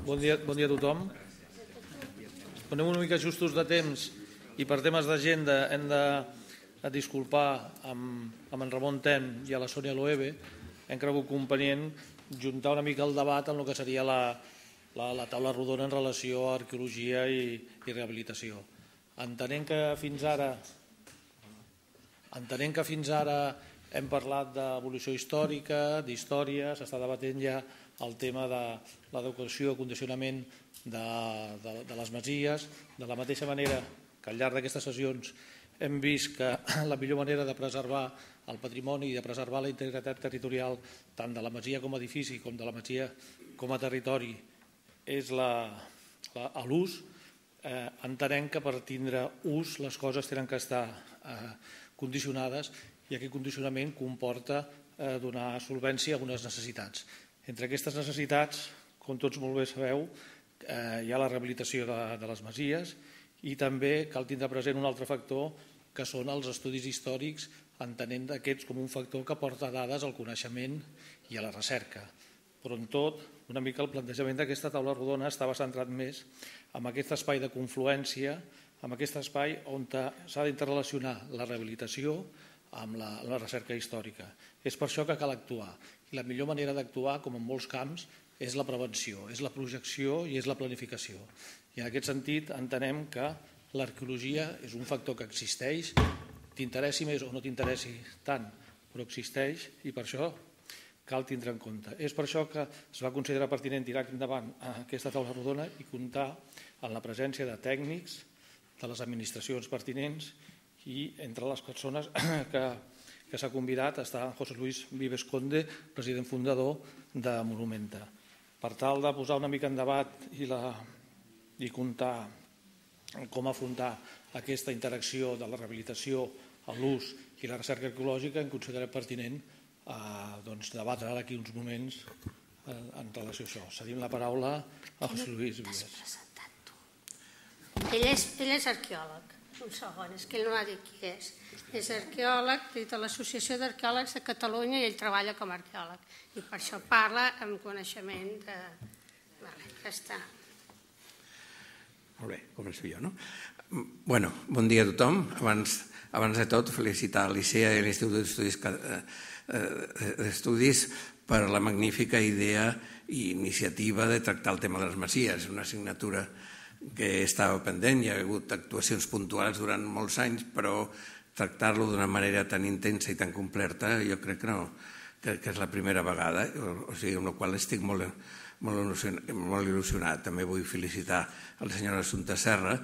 Bon dia a tothom. Anem una mica justos de temps i per temes d'agenda hem de disculpar amb en Ramon Ten i a la Sònia Loewe. Hem cregut convenient juntar una mica el debat en el que seria la taula rodona en relació a arqueologia i rehabilitació. Entenent que fins ara hem parlat d'evolució històrica, d'història, s'està debatent ja el tema de l'adequació i condicionament de les masies. De la mateixa manera que al llarg d'aquestes sessions hem vist que la millor manera de preservar el patrimoni i de preservar la integritat territorial tant de la masia com a edifici com de la masia com a territori és l'ús. Entenem que per tindre ús les coses tenen que estar condicionades i aquest condicionament comporta donar solvència a algunes necessitats. Entre aquestes necessitats, com tots molt bé sabeu, hi ha la rehabilitació de les masies i també cal tindre present un altre factor que són els estudis històrics, entenent aquests com un factor que porta dades al coneixement i a la recerca. Però en tot, una mica el plantejament d'aquesta taula rodona estava centrat més en aquest espai de confluència, en aquest espai on s'ha d'interrelacionar la rehabilitació amb la recerca històrica. És per això que cal actuar. I la millor manera d'actuar, com en molts camps, és la prevenció, és la projecció i és la planificació. I en aquest sentit entenem que l'arqueologia és un factor que existeix, t'interessi més o no t'interessi tant, però existeix i per això cal tindre en compte. És per això que es va considerar pertinent tirar endavant aquesta taula rodona i comptar amb la presència de tècnics de les administracions pertinents i entre les persones que s'ha convidat està José Luis Vives Conde, president fundador de Monumenta. Per tal de posar una mica en debat i comptar com afrontar aquesta interacció de la rehabilitació, l'ús i la recerca arqueològica, hem considerat pertinent debatre ara aquí uns moments en relació a això. Cedim la paraula a José Luis Vives. Ell és arqueòleg. Un segon, és que ell no ha dit qui és. És arqueòleg de l'Associació d'Arqueòlegs de Catalunya i ell treballa com a arqueòleg. I per això parla amb coneixement de... Ja està. Molt bé, començo jo, no? Bueno, bon dia a tothom. Abans de tot, felicitar l'ICEA i l'Institut d'Estudis per la magnífica idea i iniciativa de tractar el tema de les masies. Una assignatura que estava pendent, hi ha hagut actuacions puntuals durant molts anys, però tractar-lo d'una manera tan intensa i tan completa jo crec que és la primera vegada, o sigui, amb la qual estic molt il·lusionat. També vull felicitar a la senyora Assumpta Serra,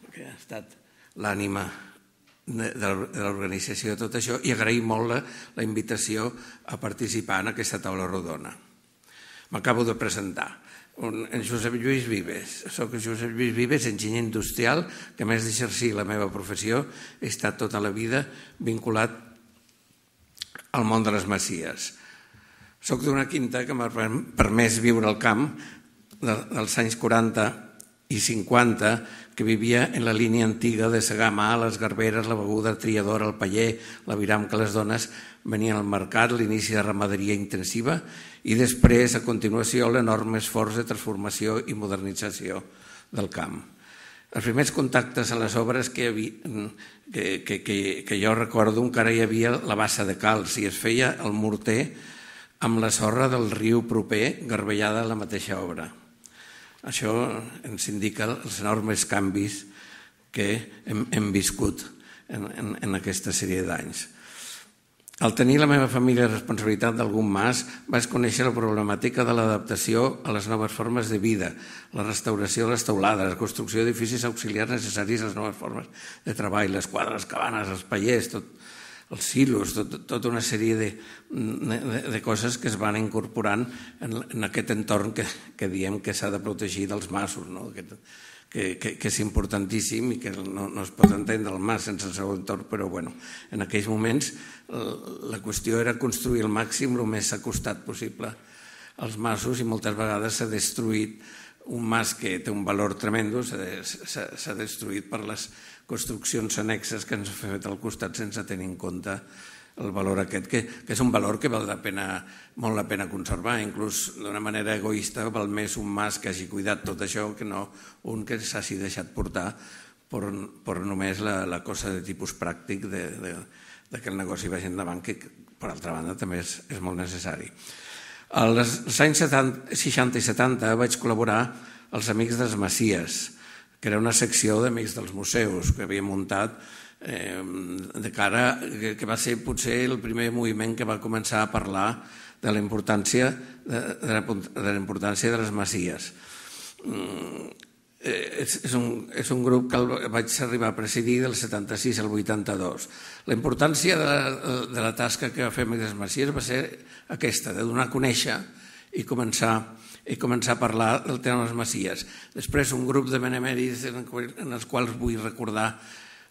que ha estat l'ànima de l'organització de tot això, i agrair molt la invitació a participar en aquesta taula rodona. M'acabo de presentar. En Josep Lluís Vives. Soc Josep Lluís Vives, enginyer industrial, que a més d'exercir la meva professió he estat tota la vida vinculat al món de les masies. Soc d'una quinta que m'ha permès viure al camp dels anys 40 i 50, que vivia en la línia antiga de segar a mà, les garberes, la beguda triadora, el paller, l'aviram que les dones venien al mercat, l'inici de ramaderia intensiva i després, a continuació, l'enorme esforç de transformació i modernització del camp. Els primers contactes a les obres que jo recordo encara hi havia la bassa de calç i es feia el morter amb la sorra del riu proper garbellada a la mateixa obra. Això ens indica els enormes canvis que hem viscut en aquesta sèrie d'anys. Al tenir la meva família responsabilitat d'algun mas, vaig conèixer la problemàtica de l'adaptació a les noves formes de vida, la restauració de les teulades, la construcció d'edificis auxiliars necessaris a les noves formes de treball, les quadres, les cabanes, els pallers, els silos, tota una sèrie de coses que es van incorporant en aquest entorn que diem que s'ha de protegir dels masos, que és importantíssim i que no es pot entendre el mas sense el seu entorn, però en aquells moments la qüestió era construir al màxim el més acostat possible als masos i moltes vegades s'ha destruït un mas que té un valor tremendo, s'ha destruït per les construccions annexes que ens ha fet al costat sense tenir en compte el valor aquest, que és un valor que val molt la pena conservar. Inclús d'una manera egoista val més un mas que hagi cuidat tot això que no un que s'hagi deixat portar per només la cosa de tipus pràctic que el negoci vagi endavant, que per altra banda també és molt necessari. Als anys 60 i 70 vaig col·laborar als Amics dels Masies, que era una secció d'Amics dels Museus que havia muntat de cara, que va ser potser el primer moviment que va començar a parlar de la importància de les masies. És un grup que vaig arribar a presidir del 76 al 82. La importància de la tasca que va fer Amics de les Masies va ser aquesta, de donar a conèixer i començar a parlar del tema de les masies. Després un grup de benemèrits en els quals vull recordar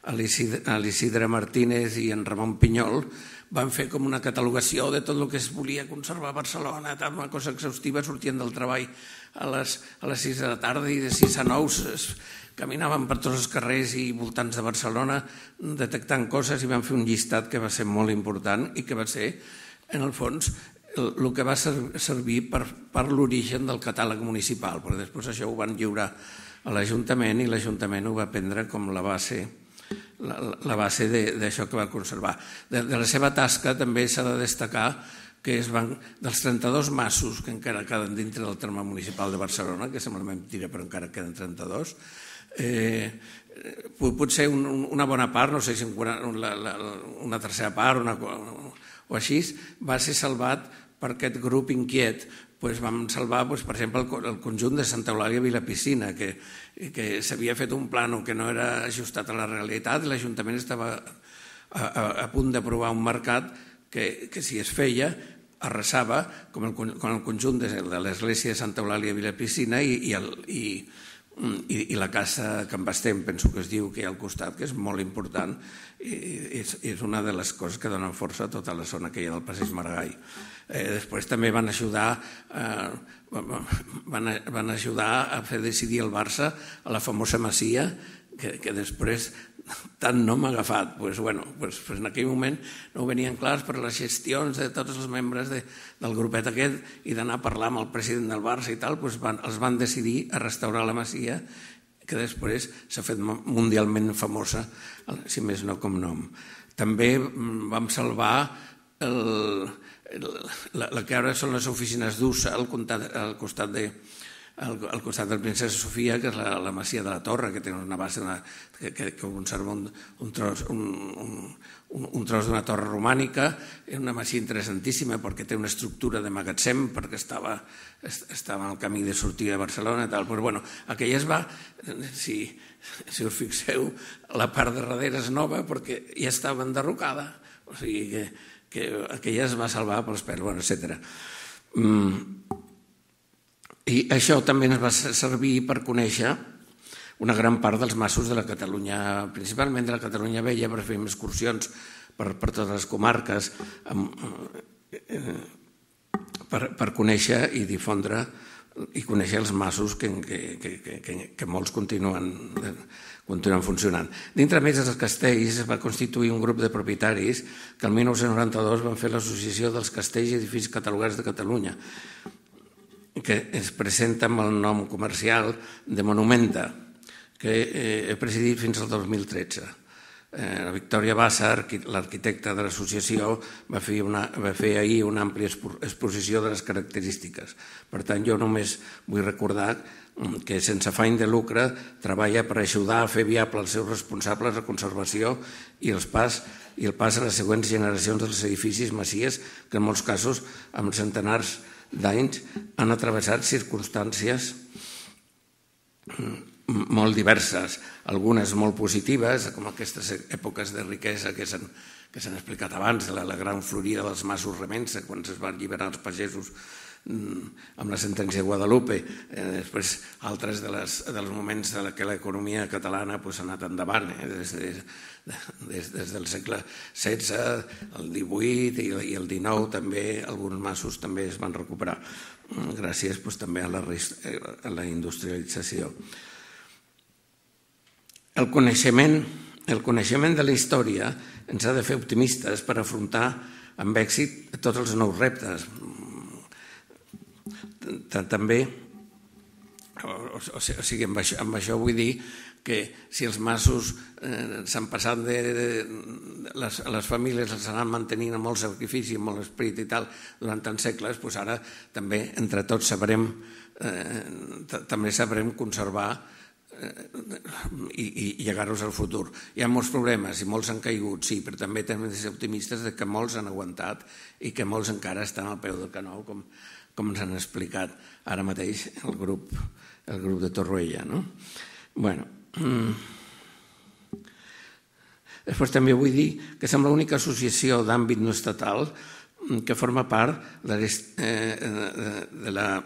a l'Isidre Martínez i en Ramon Pinyol van fer com una catalogació de tot el que es volia conservar a Barcelona, una cosa exhaustiva, sortien del treball a les 6 de la tarda i de 6 a 9 caminaven per tots els carrers i voltants de Barcelona detectant coses i van fer un llistat que va ser molt important i que va ser, en el fons, el que va servir per l'origen del catàleg municipal, perquè després això ho van lliurar a l'Ajuntament i l'Ajuntament ho va prendre com la base d'això que va conservar. De la seva tasca també s'ha de destacar que dels 32 masos que encara queden dintre del terme municipal de Barcelona, que sembla mentira però encara queden 32, potser una bona part, no sé si una tercera part o així, va ser salvat per aquest grup inquiet. Vam salvar, per exemple, el conjunt de Santa Eulàlia Vilapicina, que s'havia fet un plano que no era ajustat a la realitat i l'Ajuntament estava a punt d'aprovar un mercat que si es feia arrasava com el conjunt de l'església de Santa Eulàlia Vilapicina i la casa Can Bastem, penso que es diu, que hi ha al costat, que és molt important i és una de les coses que donen força a tota la zona que hi ha del Passeig Maragall. Després també van ajudar a fer decidir el Barça a la famosa masia que després tant no m'ha agafat. En aquell moment no ho venien clars per les gestions de tots els membres del grupet aquest i d'anar a parlar amb el president del Barça i tal, els van decidir a restaurar la masia que després s'ha fet mundialment famosa, si més no com nom. També vam salvar la que ara són les oficines d'USA al costat del Princesa Sofia, que és la masia de la Torre, que té una base que conserva un tros d'una torre romànica. És una masia interessantíssima perquè té una estructura de magatzem, perquè estava al camí de sortida de Barcelona i tal. Aquella es va, si us fixeu, la part de darrere és nova perquè ja estava enderrocada, o sigui que aquella es va salvar pels pèls, etc. I això també ens va servir per conèixer una gran part dels masos de la Catalunya, principalment de la Catalunya Vella, per fer excursions per totes les comarques, per conèixer i difondre i conèixer els masos que molts continuen funcionant. Dintre més dels castells es va constituir un grup de propietaris que el 1992 van fer l'Associació dels Castells i Edificis Catalogats de Catalunya, que es presenta amb el nom comercial de Monumenta, que he presidit fins al 2013. La Victòria Bassa, l'arquitecta de l'associació, va fer ahir una àmplia exposició de les característiques. Per tant, jo només vull recordar que sense afany de lucre treballa per ajudar a fer viable els seus responsables de conservació i el pas a les següents generacions dels edificis masies que en molts casos, amb centenars d'anys, han atravessat circumstàncies molt diverses, algunes molt positives, com aquestes èpoques de riquesa que s'han explicat abans, la gran florida dels masos Remença, quan es van alliberar els pagesos amb la sentència de Guadalupe. Després, altres dels moments en què l'economia catalana ha anat endavant, des del segle XVI, el XVIII i el XIX, també alguns masos també es van recuperar, gràcies també a la industrialització. El coneixement el coneixement de la història ens ha de fer optimistes per afrontar amb èxit tots els nous reptes. També, o sigui, amb això vull dir que si els masos s'han passat les famílies les han mantenint amb molt sacrifici, amb molt esperit i tal, durant tants segles, doncs ara també entre tots també sabrem conservar i llegar-los al futur. Hi ha molts problemes i molts han caigut, sí, però també hem de ser optimistes que molts han aguantat i que molts encara estan al peu del canó, com ens han explicat ara mateix el grup de Torroella. Bueno, després també vull dir que som l'única associació d'àmbit no estatal que forma part de la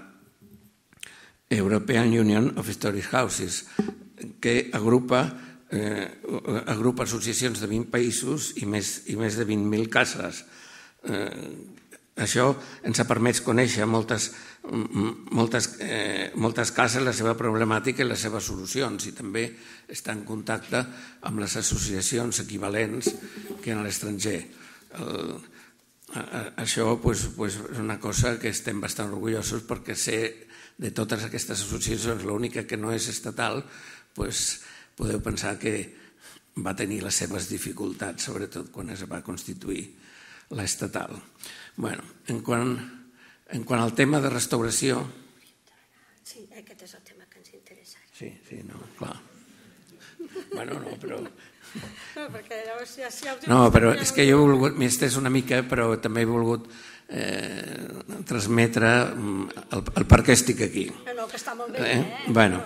European Union of Historic Houses, que agrupa associacions de 20 països i més de 20.000 cases. Això ens ha permès conèixer moltes cases, la seva problemàtica i les seves solucions, i també estar en contacte amb les associacions equivalents que en l'estranger. Això és una cosa que estem bastant orgullosos, perquè sé de totes aquestes associacions, l'única que no és estatal, podeu pensar que va tenir les seves dificultats, sobretot quan es va constituir l'estatal. Bueno, en quant al tema de restauració... Sí, aquest és el tema que ens interessa. Sí, no, clar. Bueno, no, però... No, perquè llavors ja... No, però és que jo he volgut... M'he estès una mica, però també he volgut transmetre el per què estic aquí. No, que està molt bé, Bueno,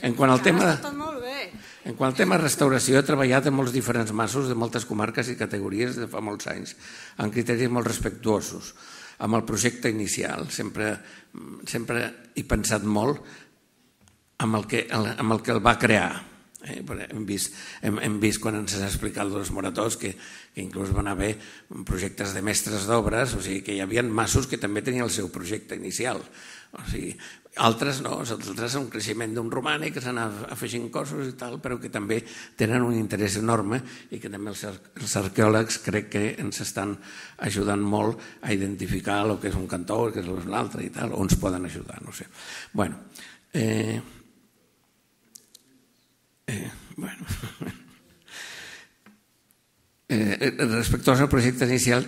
en quant al tema... Està tot molt bé. En quant al tema de restauració, he treballat en molts diferents masos de moltes comarques i categories de fa molts anys, amb criteris molt respectuosos. Amb el projecte inicial, sempre he pensat molt amb el que el va crear. Hem vist quan ens han explicat els morators que inclús van haver projectes de mestres d'obres, o sigui que hi havia masos que també tenien el seu projecte inicial. O sigui, altres no, altres un creixement d'un romànic que s'han afegint cossos i tal, però que també tenen un interès enorme i que també els arqueòlegs crec que ens estan ajudant molt a identificar el que és un cantó, el que és l'altre i tal, o ens poden ajudar, no sé. Bueno, respectuosos al projecte inicial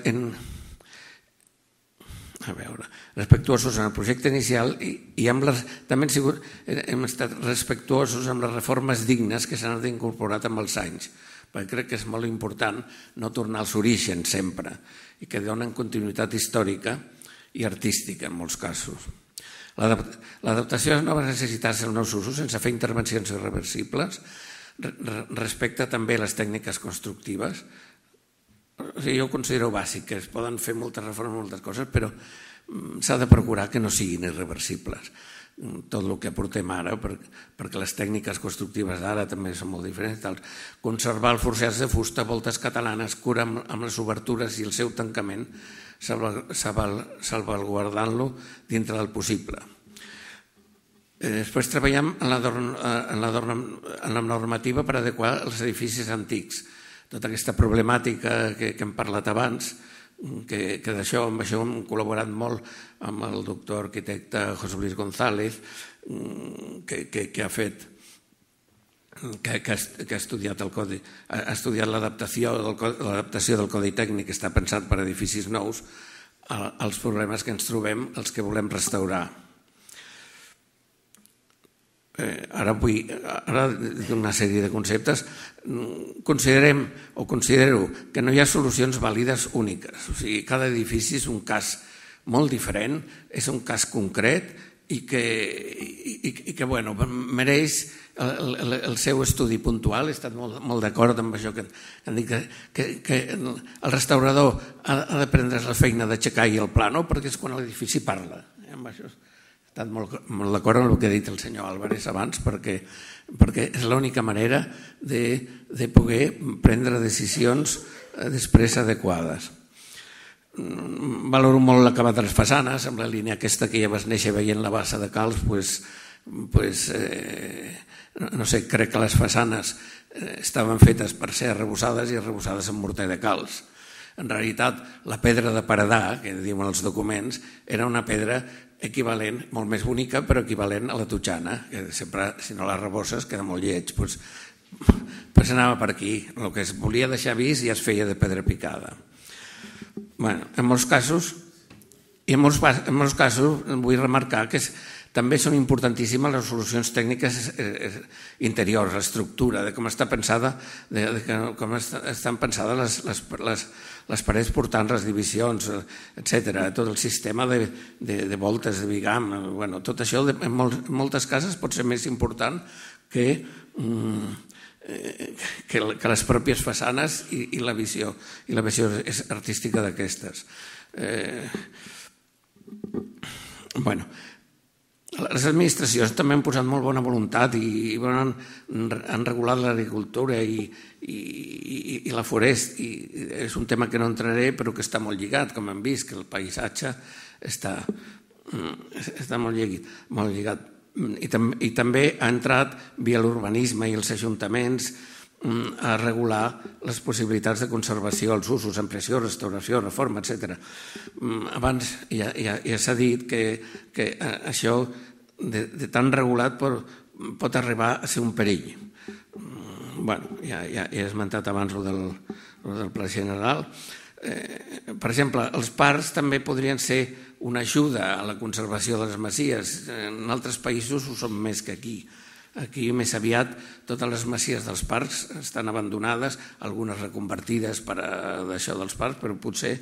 respectuosos en el projecte inicial i també hem estat respectuosos amb les reformes dignes que s'han incorporat amb els anys, perquè crec que és molt important no tornar als orígens sempre i que donen continuïtat històrica i artística en molts casos. L'adaptació a les noves necessitats dels nous usos sense fer intervencions irreversibles respecta també les tècniques constructives. Jo ho considero bàsic, que es poden fer moltes reformes, moltes coses, però s'ha de procurar que no siguin irreversibles. Tot el que aportem ara, perquè les tècniques constructives d'ara també són molt diferents. Conservar els forjats de fusta, voltes catalanes, cura amb les obertures i el seu tancament, salvaguardant-lo dintre del possible. Després treballem en la normativa per adequar els edificis antics. Tota aquesta problemàtica que hem parlat abans, que amb això hem col·laborat molt amb el doctor arquitecte José Luis González, que ha fet, que ha estudiat el codi, ha estudiat l'adaptació del codi tècnic que està pensat per a edificis nous als problemes que ens trobem, els que volem restaurar. Ara vull una sèrie de conceptes. Considero que no hi ha solucions vàlides úniques. O sigui, cada edifici és un cas molt diferent, és un cas concret i que mereix el seu estudi puntual. He estat molt d'acord amb això que han dit, que el restaurador ha de prendre's la feina d'aixecar el plànol perquè és quan l'edifici parla. Amb això he estat molt d'acord amb el que ha dit el senyor Álvarez abans, perquè és l'única manera de poder prendre decisions després adequades. Valoro molt l'acabat de les façanes, amb la línia aquesta que ja vas néixer veient la bassa de Calç, no sé, crec que les façanes estaven fetes per ser arrebossades i arrebossades amb morter de calç. En realitat, la pedra de paredar, que diuen els documents, era una pedra equivalent, molt més bonica, però equivalent a la totxana, que sempre, si no l'arrebosses, queda molt lleig. Doncs anava per aquí. El que es volia deixar vist ja es feia de pedra picada. En molts casos, vull remarcar que també són importantíssimes les solucions tècniques interiors, l'estructura, de com està pensada, com estan pensades les parets portants, les divisions, etc. Tot el sistema de voltes, de bigam, tot això en moltes cases pot ser més important que les pròpies façanes i la visió artística d'aquestes. Les administracions també han posat molt bona voluntat i han regulat l'agricultura i la forest. És un tema que no entraré, però que està molt lligat, com hem vist, que el paisatge està molt lligat. I també ha entrat via l'urbanisme i els ajuntaments a regular les possibilitats de conservació, els usos, ampliació, restauració, reforma, etc. Abans ja s'ha dit que això de tan regulat pot arribar a ser un perill. Ja he esmentat abans el del Pla General. Per exemple, els parcs també podrien ser una ajuda a la conservació de les masies. En altres països ho són més que aquí. Aquí més aviat totes les masies dels parcs estan abandonades, algunes reconvertides per d'això dels parcs, però potser,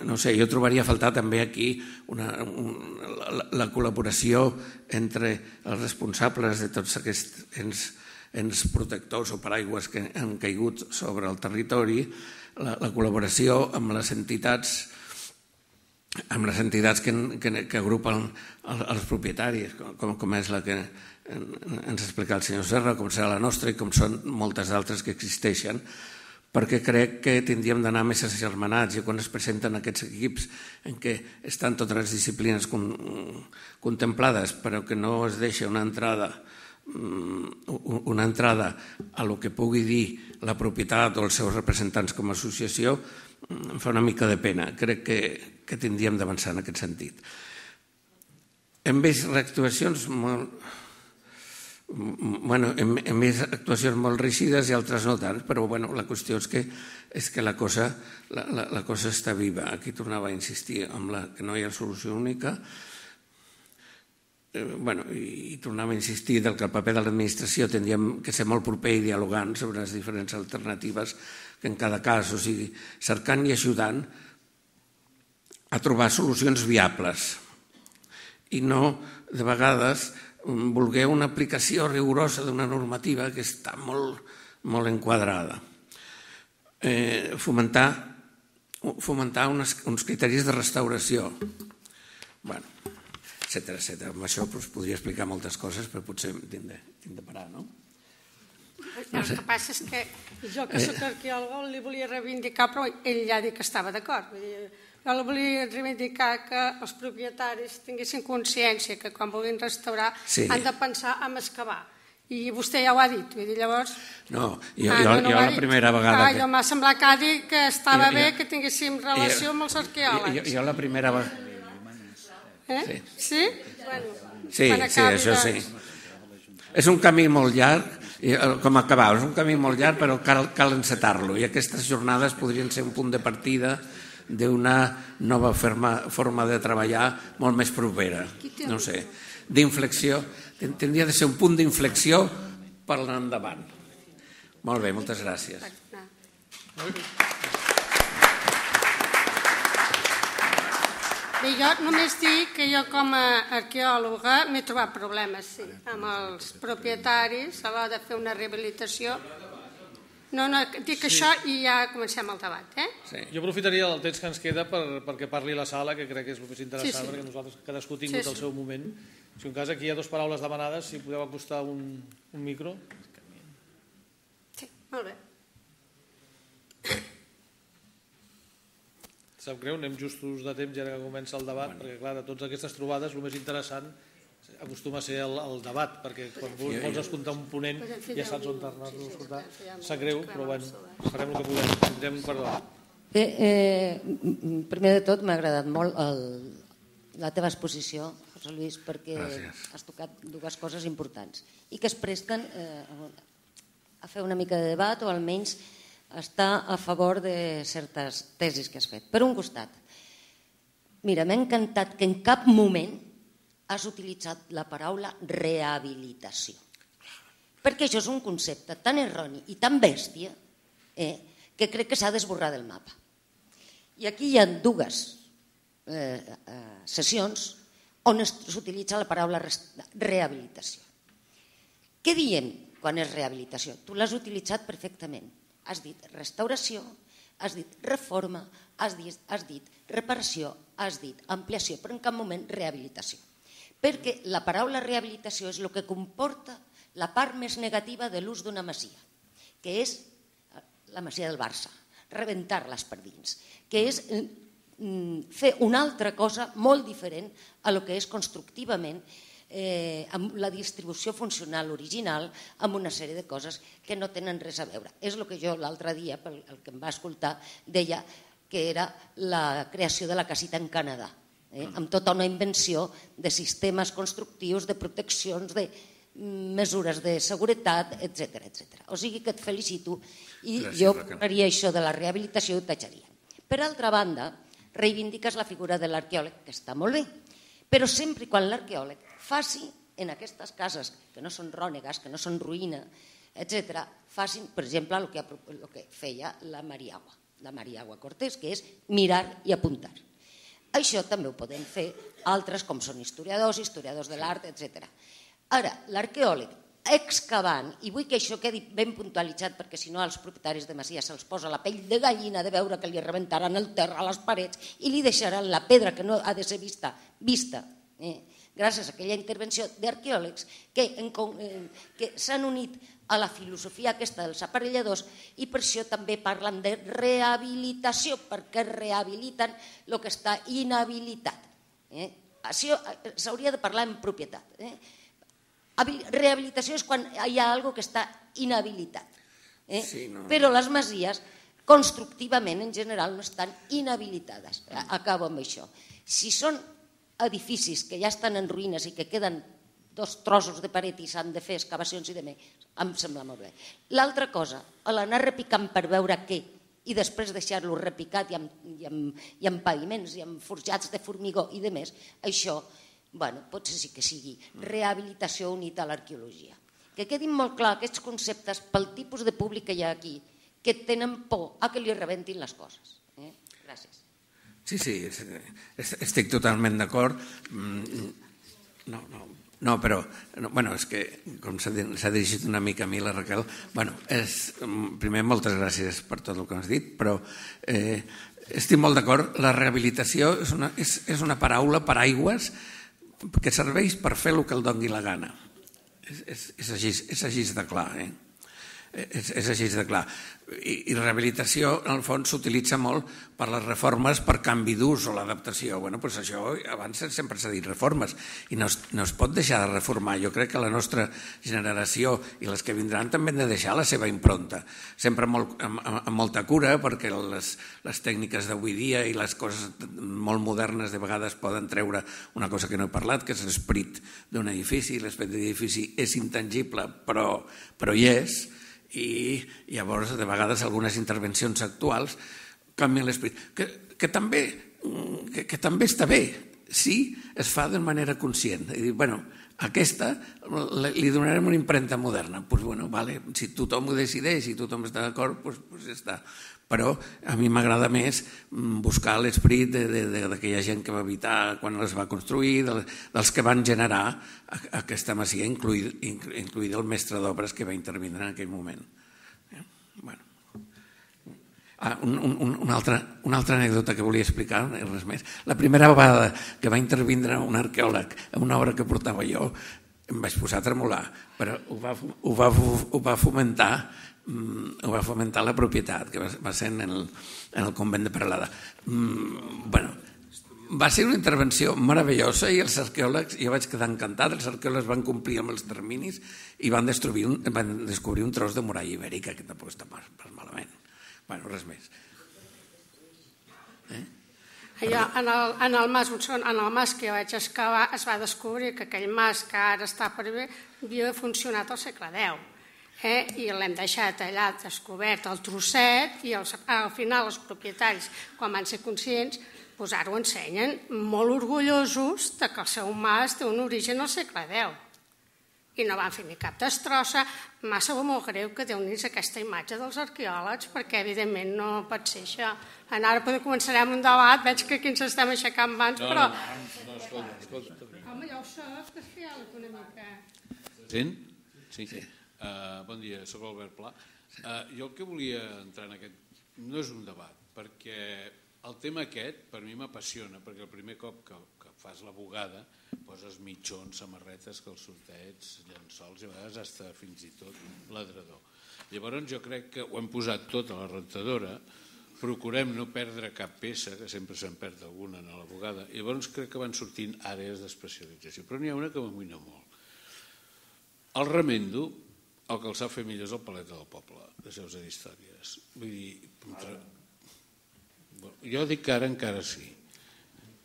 no sé, jo trobaria a faltar també aquí la col·laboració entre els responsables de tots aquests ens protectors o paraigües que han caigut sobre el territori, la col·laboració amb les entitats que agrupen els propietaris, com és la que ens ha explicat el senyor Serra, com serà la nostra i com són moltes altres que existeixen, perquè crec que tindríem d'anar més agermanats i quan es presenten aquests equips en què estan totes les disciplines contemplades però que no es deixa una entrada a lo que pugui dir la propietat o els seus representants com a associació, em fa una mica de pena. Crec que tindríem d'avançar en aquest sentit. Hem vist actuacions molt rígides i altres no tant, però la qüestió és que la cosa està viva. Aquí tornava a insistir en que no hi ha solució única i tornava a insistir que el paper de l'administració tindríem que ser molt proper i dialogant sobre les diferents alternatives que en cada cas, o sigui, cercant i ajudant a trobar solucions viables i no, de vegades, voler una aplicació rigorosa d'una normativa que està molt enquadrada. Fomentar uns criteris de restauració, etcètera. Amb això podria explicar moltes coses, però potser tinc de parar, no? El que passa és que jo, que soc arqueòloga, li volia reivindicar, però ell ja ha dit que estava d'acord. Jo li volia reivindicar que els propietaris tinguessin consciència que quan vulguin restaurar han de pensar en excavar. I vostè ja ho ha dit, llavors... No, jo la primera vegada... Jo m'ha semblat que ha dit que estava bé que tinguéssim relació amb els arqueòlegs. Jo la primera vegada... Sí? Sí, això sí. És un camí molt llarg, com acabar, és un camí molt llarg, però cal encetar-lo. I aquestes jornades podrien ser un punt de partida d'una nova forma de treballar molt més propera. No sé, d'inflexió. Tindria de ser un punt d'inflexió per anar endavant. Molt bé, moltes gràcies. Bé, jo només dic que jo com a arqueòloga m'he trobat problemes, sí, amb els propietaris a l'hora de fer una rehabilitació. No, dic això i ja comencem el debat, Jo aprofitaria el temps que ens queda perquè parli la sala, que crec que és el més interessant, perquè nosaltres cadascú ha tingut el seu moment. Si en cas aquí hi ha 2 paraules demanades, si podeu acostar un micro. Sí, molt bé. Sap greu, anem justos de temps ja que comença el debat, perquè clar, de totes aquestes trobades el més interessant acostuma a ser el debat, perquè quan vols escoltar un ponent ja saps on anar-lo a escoltar. Sap greu, però bueno, farem el que podem. Tindrem perdó. Bé, primer de tot m'ha agradat molt la teva exposició, José Luis, perquè has tocat dues coses importants i que es presten a fer una mica de debat o almenys estar a favor de certes tesis que has fet. Per un costat, mira, m'ha encantat que en cap moment has utilitzat la paraula rehabilitació. Perquè això és un concepte tan erroni i tan bèstia que crec que s'ha d'esborrar del mapa. I aquí hi ha dues sessions on s'utilitza la paraula rehabilitació. Què diem quan és rehabilitació? Tu l'has utilitzat perfectament. Has dit restauració, has dit reforma, has dit reparació, has dit ampliació, però en cap moment rehabilitació. Perquè la paraula rehabilitació és el que comporta la part més negativa de l'ús d'una masia, que és la masia del Barça, rebentar-les per dins, que és fer una altra cosa molt diferent a lo que és constructivament amb la distribució funcional original, amb una sèrie de coses que no tenen res a veure. És el que jo l'altre dia, el que em va escoltar, deia que era la creació de la casita en Canadà, amb tota una invenció de sistemes constructius, de proteccions, de mesures de seguretat, etc. O sigui que et felicito i jo faria això de la rehabilitació i ho tatxaria. Per altra banda, reivindiques la figura de l'arqueòleg, que està molt bé, però sempre quan l'arqueòleg faci en aquestes cases que no són rònegues, que no són ruïna, etc., facin, per exemple, el que feia la Mariagua Cortés, que és mirar i apuntar. Això també ho poden fer altres, com són historiadors de l'art, etc. Ara, l'arqueòleg excavant, i vull que això quedi ben puntualitzat perquè si no als propietaris de masia se'ls posa la pell de gallina de veure que li rebentaran el terra a les parets i li deixaran la pedra que no ha de ser vista gràcies a aquella intervenció d'arqueòlegs que s'han unit a la filosofia aquesta dels aparelladors i per això també parlen de rehabilitació, perquè rehabiliten el que està inhabilitat. S'hauria de parlar en propietat. Rehabilitació és quan hi ha alguna cosa que està inhabilitat. Però les masies, constructivament, en general, no estan inhabilitades. Acabo amb això. Si són edificis que ja estan en ruïnes i que queden 2 trossos de paret i s'han de fer excavacions i demés, em sembla molt bé. L'altra cosa, l'anar repicant per veure què i després deixar-lo repicat i amb paviments i amb forjats de formigó i demés, això potser sí que sigui rehabilitació unit a l'arqueologia. Que quedin molt clar aquests conceptes pel tipus de públic que hi ha aquí, que tenen por a que li rebentin les coses. Gràcies. Sí, estic totalment d'acord. No, però és que com s'ha dirigit una mica a mi la Raquel, primer moltes gràcies per tot el que has dit, però estic molt d'acord, la rehabilitació és una paraula paraigües que serveix per fer el que el doni la gana. És així de clar, és així de clar. I rehabilitació, en el fons, s'utilitza molt per les reformes per canvi d'ús o l'adaptació. Això abans sempre s'ha dit reformes i no es pot deixar de reformar. Jo crec que la nostra generació i les que vindran també han de deixar la seva impronta, sempre amb molta cura, perquè les tècniques d'avui dia i les coses molt modernes de vegades poden treure una cosa que no he parlat, que és l'esperit d'un edifici. L'esperit d'un edifici és intangible, però hi és. I llavors, de vegades, algunes intervencions actuals canvien l'esperit, que també està bé si es fa de manera conscient. I dir, aquesta li donarem una impremta moderna. Si tothom ho decideix i tothom està d'acord, doncs ja està. Però a mi m'agrada més buscar l'esperit d'aquella gent que va habitar quan es va construir, dels que van generar aquesta masia, incluït el mestre d'obres que va intervindre en aquell moment. Una altra anècdota que volia explicar, res més. La primera vegada que va intervindre un arqueòleg en una obra que portava jo, em vaig posar a tremolar, però ho va fomentar la propietat, que va ser en el convent de Peralada. Va ser una intervenció meravellosa i els arqueòlegs, jo vaig quedar encantat, els arqueòlegs van complir amb els terminis i van descobrir un tros de muralla ibèrica, que tampoc està pas malament. Bueno, res més. Allò, en el mas que jo vaig excavar es va descobrir que aquell mas que ara està per bé havia funcionat al segle X. I l'hem deixat allà descobert el trosset i al final els propietaris, quan van ser conscients, ara ho ensenyen molt orgullosos que el seu mas té un origen al segle X. I no van fer ni cap destrossa. M'ha sabut molt greu que deu-nos aquesta imatge dels arqueòlegs, perquè evidentment no pot ser això. Ara començarem un debat, veig que aquí ens estem aixecant mans, però... No, escolta. Home, ja ho soc, que és fiòleg una mica. Sent? Sí. Bon dia, soc Albert Pla. Jo el que volia entrar en aquest... No és un debat, perquè el tema aquest per mi m'apassiona, perquè el primer cop que fas la bugada poses mitjons, samarretes, calçotets, llençols i a vegades hasta fins i tot ladrador. Llavors jo crec que ho hem posat tot a la rentadora, procurem no perdre cap peça, que sempre se'n perd alguna en la bugada, i llavors crec que van sortint àrees d'especialització, però n'hi ha una que m'amoïna molt. El remendo, el que el sap fer millor és el Paleta del Poble, de Seus d'Històries. Vull dir, jo dic que ara encara sí,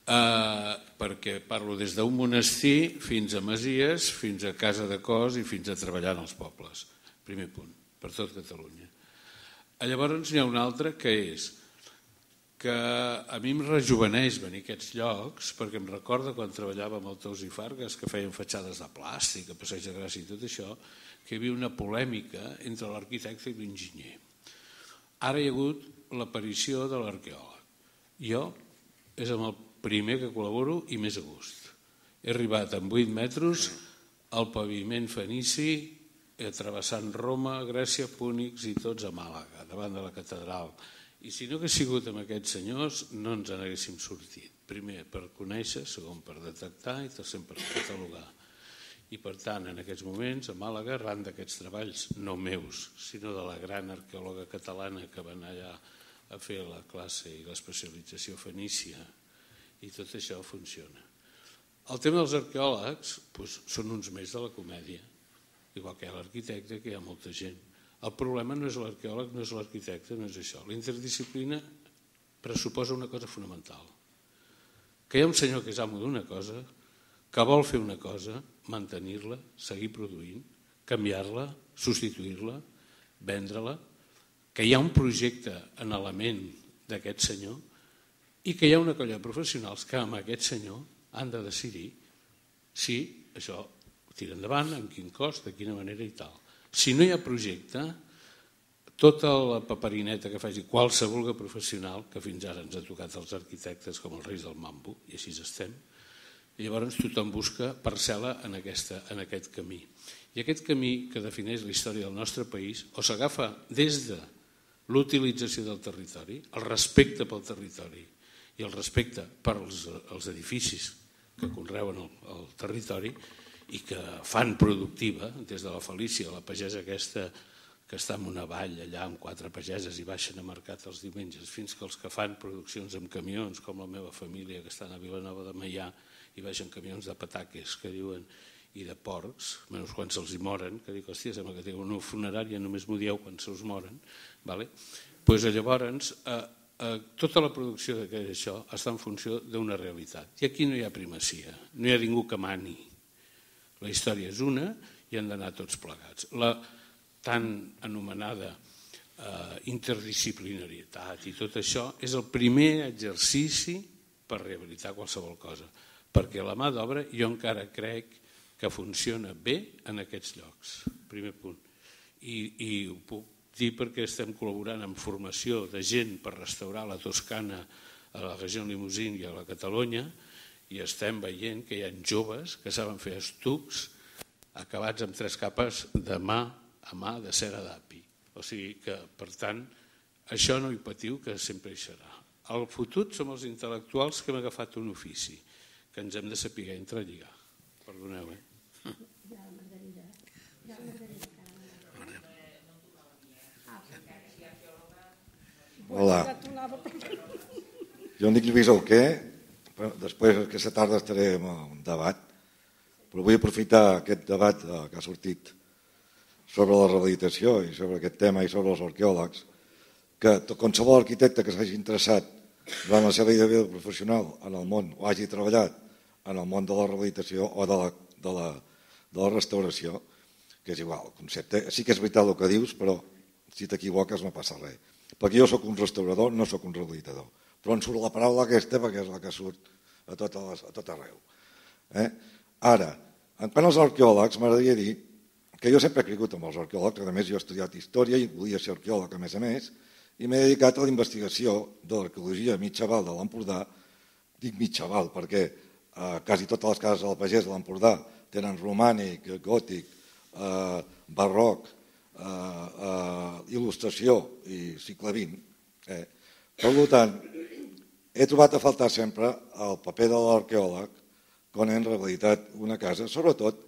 perquè parlo des d'un monestir fins a masies, fins a casa de cos i fins a treballar en els pobles. Primer punt, per tot Catalunya. Llavors n'hi ha un altre que és que a mi em rejuveneix venir a aquests llocs, perquè em recorda quan treballava amb el Tous i Fargues, que feien fatxades de plàstic, a Passeig de Gràcia i tot això, que hi havia una polèmica entre l'arquitecte i l'enginyer. Ara hi ha hagut l'aparició de l'arqueòleg. Jo és amb el primer que col·laboro i més a gust. He arribat amb 8 metres al paviment fenici, travessant Roma, Grècia, Púnics i tots a Màlaga, davant de la catedral. I si no hagués sigut amb aquests senyors, no ens n'haguéssim sortit. Primer, per conèixer, segon, per detectar i tercer, per catalogar. I per tant, en aquests moments, a Màlaga, arran d'aquests treballs, no meus, sinó de la gran arqueòloga catalana que va anar allà a fer la classe i l'especialització fenícia, i tot això funciona. El tema dels arqueòlegs són uns més de la comèdia, igual que hi ha l'arquitecte, que hi ha molta gent. El problema no és l'arqueòleg, no és l'arquitecte, no és això. La interdisciplina pressuposa una cosa fonamental, que hi ha un senyor que és amo d'una cosa, que vol fer una cosa, mantenir-la, seguir produint, canviar-la, substituir-la, vendre-la, que hi ha un projecte en element d'aquest senyor i que hi ha una colla de professionals que amb aquest senyor han de decidir si això tira endavant, amb quin cost, de quina manera i tal. Si no hi ha projecte, tota la paperineta que faci qualsevol professional, que fins ara ens ha tocat els arquitectes com els reis del mambo, i així estem, llavors tothom busca parcel·la en aquest camí. I aquest camí que defineix la història del nostre país o s'agafa des de l'utilització del territori, el respecte pel territori i el respecte pels edificis que conreuen el territori i que fan productiva, des de la Felícia, la pagesa aquesta que està en una vall allà amb 4 pageses i baixen a mercat els diumenges, fins que els que fan produccions amb camions, com la meva família que estan a Vilanova de Meià i baixen camions de pataques que diuen i de porcs, menys quan se'ls hi moren, que dic, hòstia, sembla que teniu una funerària, només m'ho dieu quan se'ls moren. Llavors, tota la producció d'això està en funció d'una realitat. I aquí no hi ha primacia, no hi ha ningú que mani. La història és una i han d'anar tots plegats. La tan anomenada interdisciplinarietat i tot això és el primer exercici per rehabilitar qualsevol cosa, perquè la mà d'obra jo encara crec que funciona bé en aquests llocs, primer punt. I ho puc dir perquè estem col·laborant en formació de gent per restaurar la Toscana a la regió Limousin i a la Catalunya i estem veient que hi ha joves que saben fer estucs acabats amb 3 capes de mà a mà de cera d'api. O sigui que, per tant, això no hi patiu, que sempre hi serà. El fotut som els intel·lectuals que hem agafat un ofici, que ens hem de saber entrelligar. Perdoneu, Hola. Jo em dic Lluís Alquer, Després, aquesta tarda estaré en un debat, però vull aprofitar aquest debat que ha sortit sobre la rehabilitació i sobre aquest tema i sobre els arqueòlegs, que qualsevol arquitecte que s'hagi interessat durant la seva vida professional en el món o hagi treballat en el món de la rehabilitació o de la restauració, que és igual, el concepte, sí que és veritat el que dius, però si t'equivoques no passa res. Perquè jo sóc un restaurador, no sóc un rehabilitador. Però em surt la paraula aquesta perquè és la que surt a tot arreu. Ara, quant als arqueòlegs, m'agradaria dir que jo sempre he cregut en els arqueòlegs, a més jo he estudiat història i volia ser arqueòleg a més, i m'he dedicat a la investigació de l'arqueologia mitjaval de l'Empordà. Dic mitjaval perquè quasi totes les cases del pagès de l'Empordà tenen romànic, gòtic, barroc, il·lustració i segle XX. Per tant, he trobat a faltar sempre el paper de l'arqueòleg quan hem rehabilitat una casa, sobretot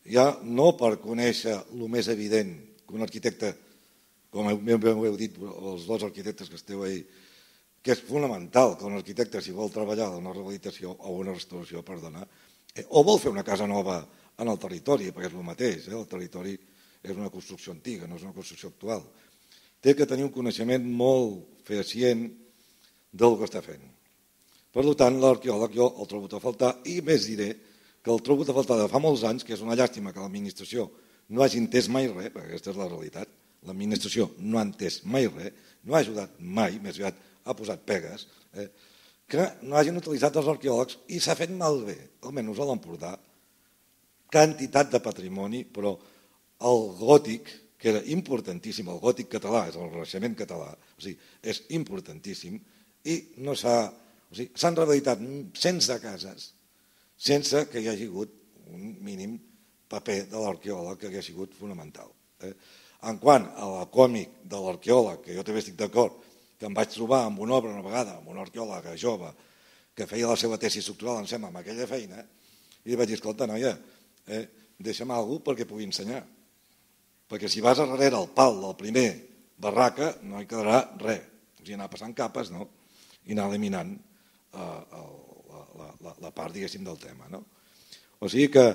ja no per conèixer el més evident que un arquitecte, com heu dit els dos arquitectes que esteu ahí, que és fonamental que un arquitecte, si vol treballar en una rehabilitació o una restauració, o vol fer una casa nova en el territori, perquè és el mateix, el territori és una construcció antiga, no és una construcció actual, té que tenir un coneixement molt fehacient del que està fent. Per tant, l'arqueòleg jo el trobo a faltar, i més diré que el trobo a faltar de fa molts anys, que és una llàstima que l'administració no hagi entès mai res, perquè aquesta és la realitat, l'administració no ha entès mai res, no ha ajudat mai, més aviat ha posat pegues, que no hagin utilitzat els arqueòlegs i s'ha fet malbé, almenys a l'Empordà, quantitat de patrimoni, però el gòtic, que era importantíssim, el gòtic català, és el Renaixement català, o sigui, és importantíssim, i no s'han rehabilitat cents de cases sense que hi hagi hagut un mínim paper de l'arqueòleg que hagi sigut fonamental. En quant a la còmic de l'arqueòleg, que jo també estic d'acord, que em vaig trobar amb una obra una vegada, amb un arqueòleg jove que feia la seva tesi estructural, em sembla, amb aquella feina, i li vaig dir, escolta, noia, deixa'm alguna cosa perquè pugui ensenyar. Perquè si vas darrere el pal del primer barraca no hi quedarà res. O sigui, anar passant capes i anar eliminant la part, diguéssim, del tema. O sigui que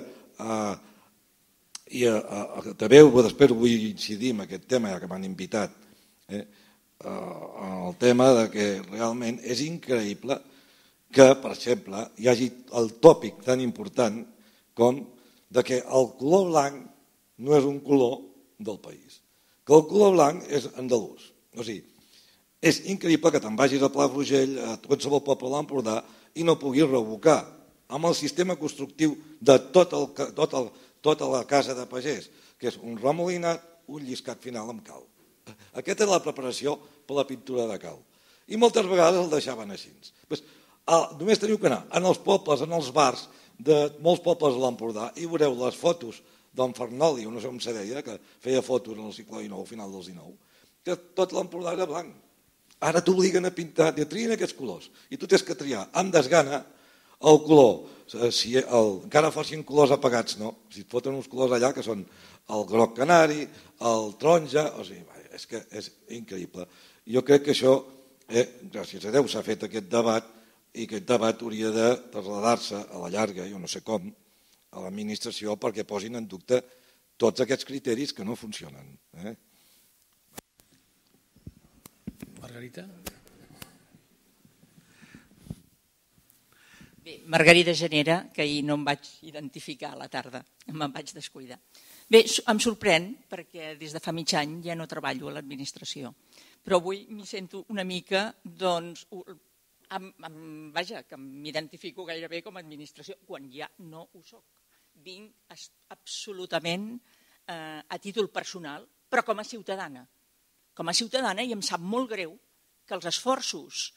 també després vull incidir en aquest tema, ja que m'han invitat, el tema de que realment és increïble que, per exemple, hi hagi el tòpic tan important com de que el color blanc no és un color del país, que el color blanc és andalús. O sigui, és increïble que te'n vagis a Palafrugell, a qualsevol poble de l'Empordà, i no puguis revocar amb el sistema constructiu de tota la casa de pagès, que és un remolinat, un lliscat final amb cal. Aquesta és la preparació per la pintura de cal. I moltes vegades el deixaven així. Només teniu que anar en els pobles, en els bars de molts pobles de l'Empordà i veureu les fotos d'en Fernoli, no sé com se deia, que feia fotos en el segle XIX, al final del XIX, que tot l'Empordà era blanc. Ara t'obliguen a pintar, de trien aquests colors, i tu tens que triar amb desgana el color, si encara fossin colors apagats, no? Si et foten uns colors allà que són el groc canari, el taronja, o sigui, és que és increïble. Jo crec que això, gràcies a Déu, s'ha fet aquest debat, i aquest debat hauria de traslladar-se a la llarga, jo no sé com, a l'administració perquè posin en dubte tots aquests criteris que no funcionen. Margarita? Bé, Margarida Genera, que ahir no em vaig identificar a la tarda, me'n vaig descuidar. Bé, em sorprèn perquè des de fa mig any ja no treballo a l'administració, però avui m'hi sento una mica, doncs, vaja, que m'identifico gairebé com a administració, quan ja no ho soc. Vinc absolutament a títol personal, però com a ciutadana. Com a ciutadana, i em sap molt greu que els esforços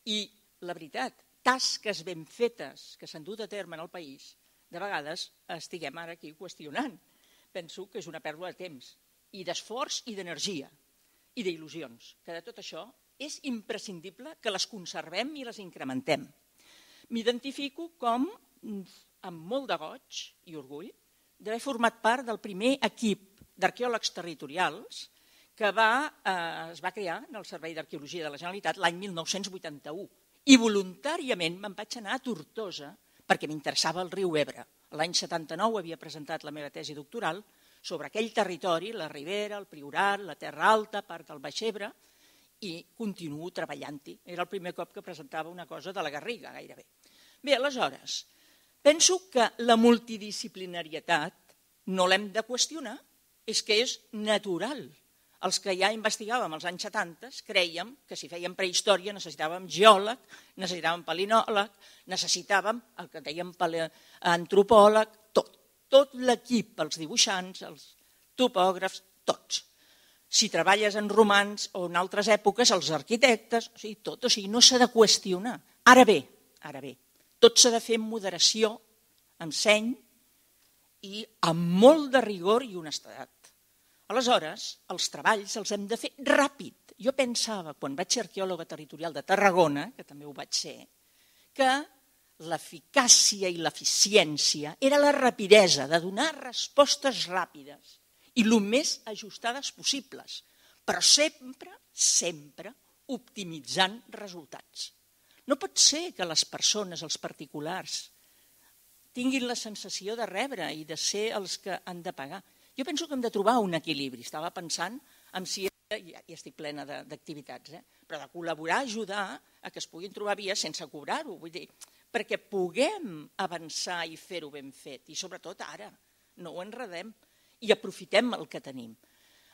i, la veritat, tasques ben fetes que s'han dut a terme en el país, de vegades estiguem ara aquí qüestionant. Penso que és una pèrdua de temps, i d'esforç i d'energia, i d'il·lusions, que de tot això és imprescindible que les conservem i les incrementem. M'identifico com, amb molt de goig i orgull, d'haver format part del primer equip d'arqueòlegs territorials que es va crear en el Servei d'Arqueologia de la Generalitat l'any 1981 I voluntàriament me'n vaig anar a Tortosa perquè m'interessava el riu Ebre. L'any 79 havia presentat la meva tesi doctoral sobre aquell territori, la Ribera, el Priorat, la Terra Alta, part del Baix Ebre, i continuo treballant-hi. Era el primer cop que presentava una cosa de la Garriga, gairebé. Bé, aleshores, penso que la multidisciplinarietat no l'hem de qüestionar, és que és natural. Els que ja investigàvem als anys 70 crèiem que si fèiem prehistòria necessitàvem geòleg, necessitàvem palinòleg, necessitàvem el que dèiem antropòleg, tot. Tot l'equip, els dibuixants, els topògrafs, tots. Si treballes en romans o en altres èpoques, els arquitectes, o sigui, tot, o sigui, no s'ha de qüestionar. Ara bé, tot s'ha de fer amb moderació, amb seny i amb molt de rigor i honestedat. Aleshores, els treballs els hem de fer ràpid. Jo pensava, quan vaig ser arqueòloga territorial de Tarragona, que també ho vaig ser, que l'eficàcia i l'eficiència era la rapidesa de donar respostes ràpides i el més ajustades possibles, però sempre optimitzant resultats. No pot ser que les persones, els particulars, tinguin la sensació de rebre i de ser els que han de pagar. Jo penso que hem de trobar un equilibri. Estava pensant en si, ja estic plena d'activitats, però de col·laborar, ajudar a que es puguin trobar vies sense cobrar-ho, vull dir, perquè puguem avançar i fer-ho ben fet, i sobretot ara, no ho enredem i aprofitem el que tenim.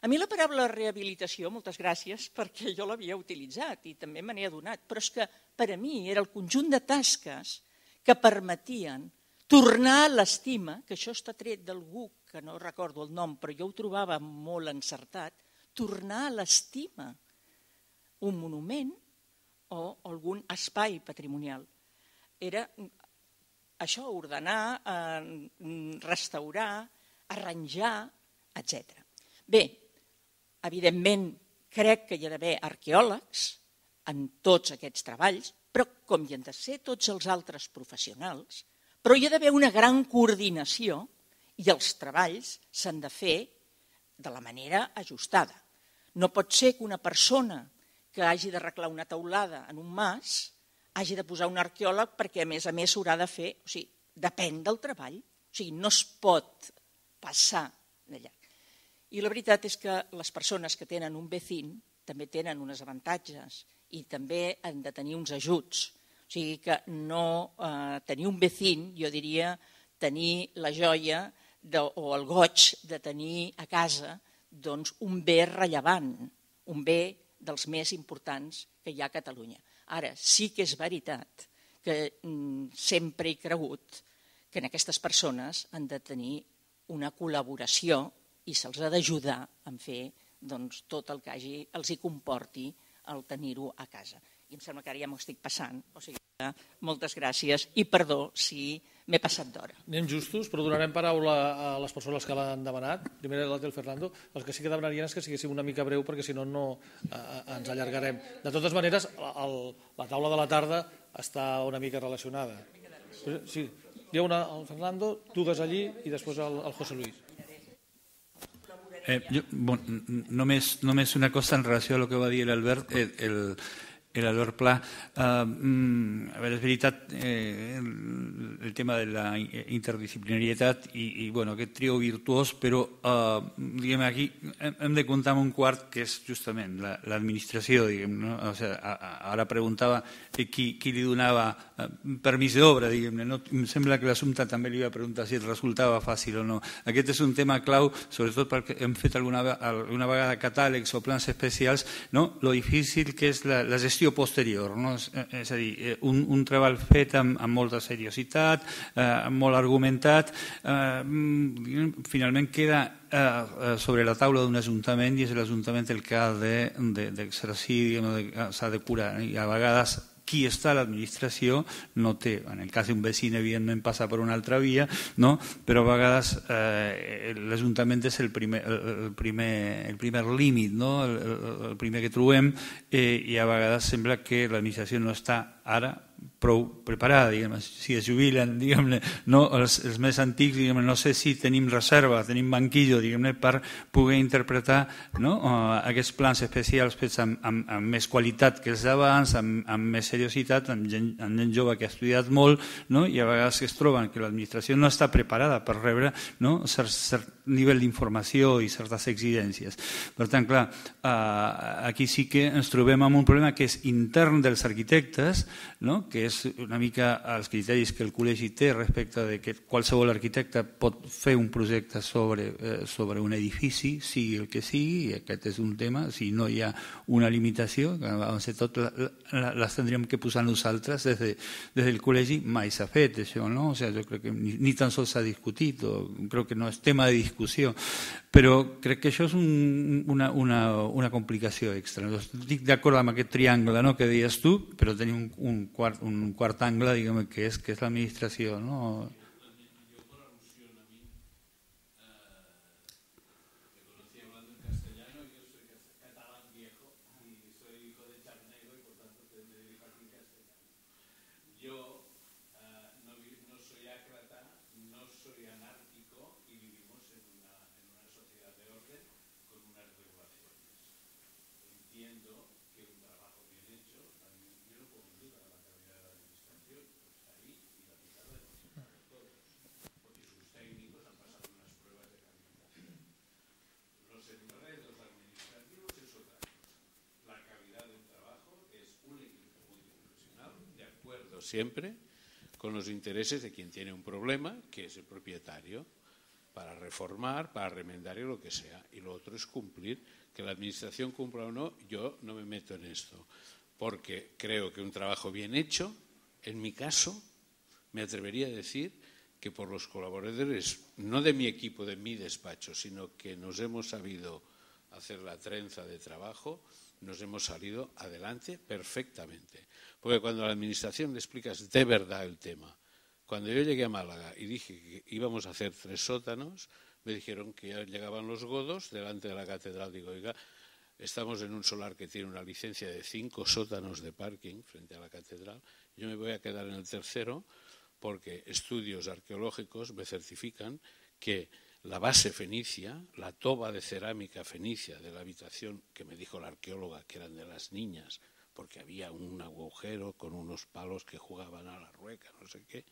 A mi la paraula rehabilitació, moltes gràcies, perquè jo l'havia utilitzat i també me n'he adonat, però és que per a mi era el conjunt de tasques que permetien tornar a l'estima, que això està tret d'algú que no recordo el nom, però jo ho trobava molt encertat, tornar a l'estima un monument o algun espai patrimonial. Era això, ordenar, restaurar, arranjar, etc. Bé, evidentment crec que hi ha d'haver arqueòlegs en tots aquests treballs, però com hi han de ser tots els altres professionals, però hi ha d'haver una gran coordinació i els treballs s'han de fer de la manera ajustada. No pot ser que una persona que hagi d'arreglar una teulada en un mas hagi de posar un arqueòleg perquè a més s'haurà de fer, o sigui, depèn del treball, o sigui, no es pot passar d'allà. I la veritat és que les persones que tenen un vecín també tenen uns avantatges i també han de tenir uns ajuts. O sigui que no tenir un vecín, jo diria tenir la joia o el goig de tenir a casa un bé rellevant, un bé dels més importants que hi ha a Catalunya. Ara, sí que és veritat que sempre he cregut que en aquestes persones han de tenir una col·laboració i se'ls ha d'ajudar a fer tot el que els hi comporti el tenir-ho a casa. I em sembla que ara ja m'ho estic passant, o sigui que moltes gràcies i perdó si m'he passat d'hora. Anem justos, però donarem paraula a les persones que l'han demanat. Primer la del Fernando. El que sí que demanarien és que siguéssim una mica breu perquè si no ens allargarem. De totes maneres, la taula de la tarda està una mica relacionada. Sí, hi ha una al Fernando, tu des allí i després el José Luis. Només una cosa en relació a lo que va dir l'Albert, l'Albert Pla. A veure, és veritat el tema de la interdisciplinarietat i aquest trio virtuós, però diguem aquí hem de comptar amb un quart que és justament l'administració, diguem, no? O sigui, ara preguntava qui li donava permís d'obra, diguem-ne, no? Em sembla que l'assumpte també li va preguntar si resultava fàcil o no. Aquest és un tema clau, sobretot perquè hem fet alguna vegada catàlegs o plans especials, no? Lo difícil que és la gestió posterior, no? És a dir, un treball fet amb molta seriositat, molt argumentat, finalment queda sobre la taula d'un ajuntament i és l'Ajuntament el que ha d'exercir, s'ha de curar, i a vegades qui està a l'administració no té, en el cas d'un vecí evidentment passa per una altra via, no? Però a vegades l'Ajuntament és el primer límit, no? El primer que trobem, i a vegades sembla que l'administració no està ara prou preparada, si es jubilen, no, els més antics, no sé si tenim reserva, tenim banquillo, per poder interpretar aquests plans especials fets amb més qualitat que els d'abans, amb més seriositat, amb gent jove que ha estudiat molt, i a vegades es troben que l'administració no està preparada per rebre cert nivell d'informació i certes exigències. Per tant, clar, aquí sí que ens trobem amb un problema que és intern dels arquitectes, que és una mica els criteris que el col·legi té respecte de que qualsevol arquitecte pot fer un projecte sobre un edifici, sigui el que sigui, i aquest és un tema, si no hi ha una limitació, que abans de tot les tindríem que posar nosaltres, des del col·legi mai s'ha fet això, no? O sigui, jo crec que ni tan sols s'ha discutit, o crec que no és tema de discussió, però crec que això és una complicació extra. Estic d'acord amb aquest triangle que deies tu, però tenim un quart angle, diguem, que és l'administració, no? Siempre con los intereses de quien tiene un problema, que es el propietario, para reformar, para remendar y lo que sea. Y lo otro es cumplir, que la administración cumpla o no, yo no me meto en esto, porque creo que un trabajo bien hecho, en mi caso, me atrevería a decir que por los colaboradores, no de mi equipo, de mi despacho, sino que nos hemos sabido hacer la trenza de trabajo, nos hemos salido adelante perfectamente. Porque cuando a la administración le explicas de verdad el tema, cuando yo llegué a Málaga y dije que íbamos a hacer 3 sótanos, me dijeron que ya llegaban los godos delante de la catedral. Digo, oiga, estamos en un solar que tiene una licencia de 5 sótanos de parking frente a la catedral. Yo me voy a quedar en el tercero porque estudios arqueológicos me certifican que la base fenicia, la toba de cerámica fenicia de la habitación que me dijo la arqueóloga que eran de las niñas, porque había un agujero con unos palos que jugaban a la rueca, no sé qué,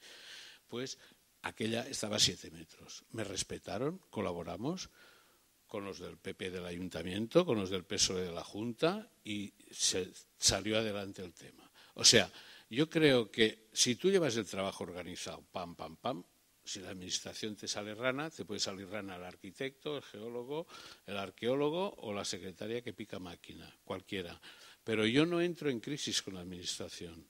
pues aquella estaba a 7 metros. Me respetaron, colaboramos con los del PP del Ayuntamiento, con los del PSOE de la Junta y se salió adelante el tema. O sea, yo creo que si tú llevas el trabajo organizado, pam, pam, pam, si la administración te sale rana, te puede salir rana el arquitecto, el geólogo, el arqueólogo o la secretaria que pica máquina, cualquiera. Pero yo no entro en crisis con la administración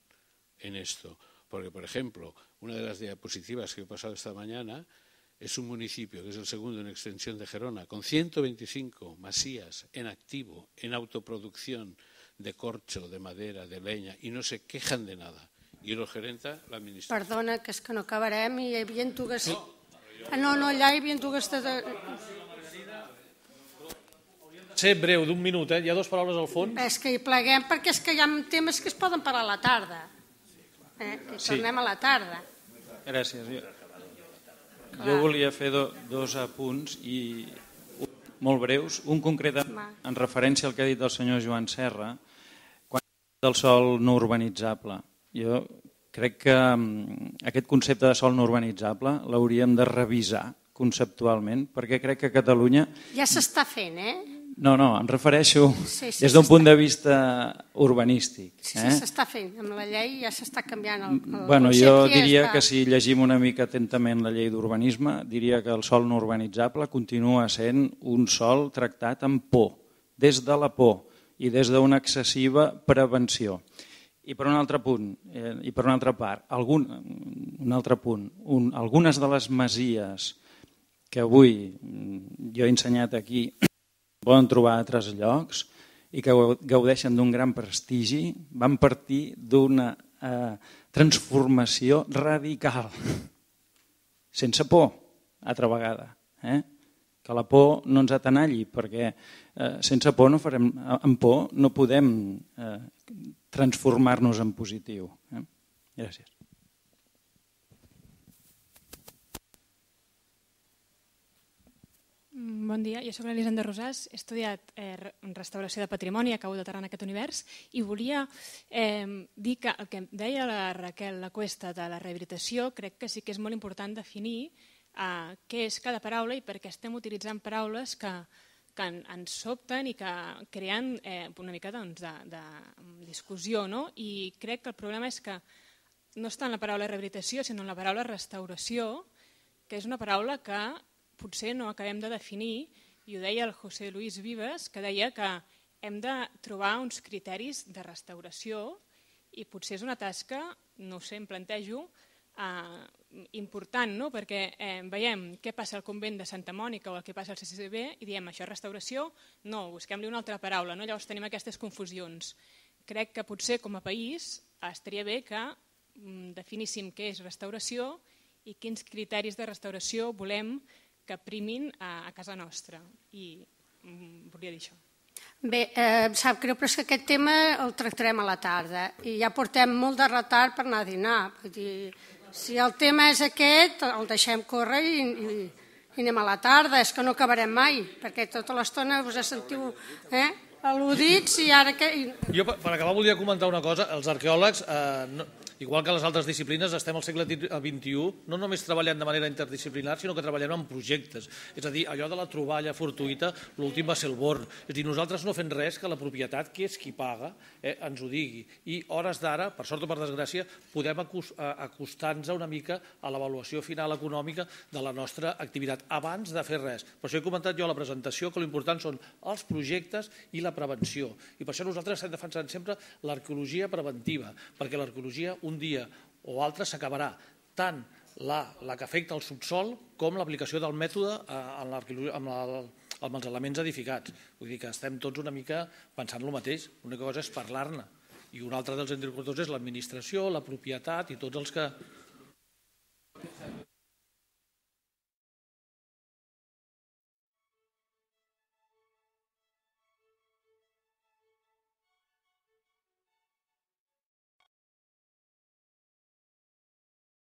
en esto, porque, por ejemplo, una de las diapositivas que he pasado esta mañana es un municipio que es el segundo en extensión de Gerona, con 125 masías en activo, en autoproducción de corcho, de madera, de leña, y no se quejan de nada. I el gerenta l'administració. Perdona, que és que no acabarem i hi havia dues... No, allà hi havia dues... Ser breu, d'un minut, hi ha 2 paraules al fons. És que hi pleguem perquè és que hi ha temes que es poden parar a la tarda. I tornem a la tarda. Gràcies. Jo volia fer 2 apunts i molt breus. Un concret en referència al que ha dit el senyor Joan Serra, quan del sòl no urbanitzable. Jo crec que aquest concepte de sòl no urbanitzable l'hauríem de revisar conceptualment, perquè crec que a Catalunya... Ja s'està fent, No, em refereixo des d'un punt de vista urbanístic. Sí, s'està fent. Amb la llei ja s'està canviant el concepte. Jo diria que si llegim una mica atentament la llei d'urbanisme, diria que el sòl no urbanitzable continua sent un sòl tractat amb por, des de la por i des d'una excessiva prevenció. I per un altre punt, i per una altra part, algunes de les masies que avui jo he ensenyat aquí poden trobar a altres llocs i que gaudeixen d'un gran prestigi, van partir d'una transformació radical, sense por, altra vegada. Que la por no ens atenalli, perquè sense por no farem, amb por no podem transformar-nos en positiu. Gràcies. Bon dia, jo soc l'Elisenda Rosàs, he estudiat restauració de patrimoni, acabo d'aterrar en aquest univers i volia dir que el que deia la Raquel Lacuesta de la rehabilitació crec que sí que és molt important definir què és cada paraula i per què estem utilitzant paraules que ens sobten i que creen una mica de discussió. I crec que el problema és que no està en la paraula rehabilitació, sinó en la paraula restauració, que és una paraula que potser no acabem de definir, i ho deia el José Luis Vives, que deia que hem de trobar uns criteris de restauració i potser és una tasca, no ho sé, em plantejo, important, perquè veiem què passa al convent de Santa Mònica o el que passa al CCCB i diem això és restauració, no, busquem-li una altra paraula, llavors tenim aquestes confusions. Crec que potser com a país estaria bé que definíssim què és restauració i quins criteris de restauració volem que primin a casa nostra. I volia dir això. Bé, em sap greu, però és que aquest tema el tractarem a la tarda i ja portem molt de retard per anar a dinar. Vull dir, si el tema és aquest, el deixem córrer i anem a la tarda. És que no acabarem mai, perquè tota l'estona us sentiu al·ludits i ara que... Jo, per acabar, volia comentar una cosa. Els arqueòlegs, igual que les altres disciplines, estem al segle XXI, no només treballant de manera interdisciplinar, sinó que treballem en projectes. És a dir, allò de la troballa fortuïta, l'últim va ser el Born. És a dir, nosaltres no fem res que la propietat, que és qui paga, ens ho digui. I hores d'ara, per sort o per desgràcia, podem acostar-nos una mica a l'avaluació final econòmica de la nostra activitat, abans de fer res. Per això he comentat jo a la presentació que l'important són els projectes i la prevenció. I per això nosaltres estem defensant sempre l'arqueologia preventiva, perquè l'arqueologia un dia o altre s'acabarà tant la que afecta el subsol com l'aplicació del mètode amb els elements edificats. Vull dir que estem tots una mica pensant el mateix, l'única cosa és parlar-ne. I un altre dels interlocutors és l'administració, la propietat i tots els que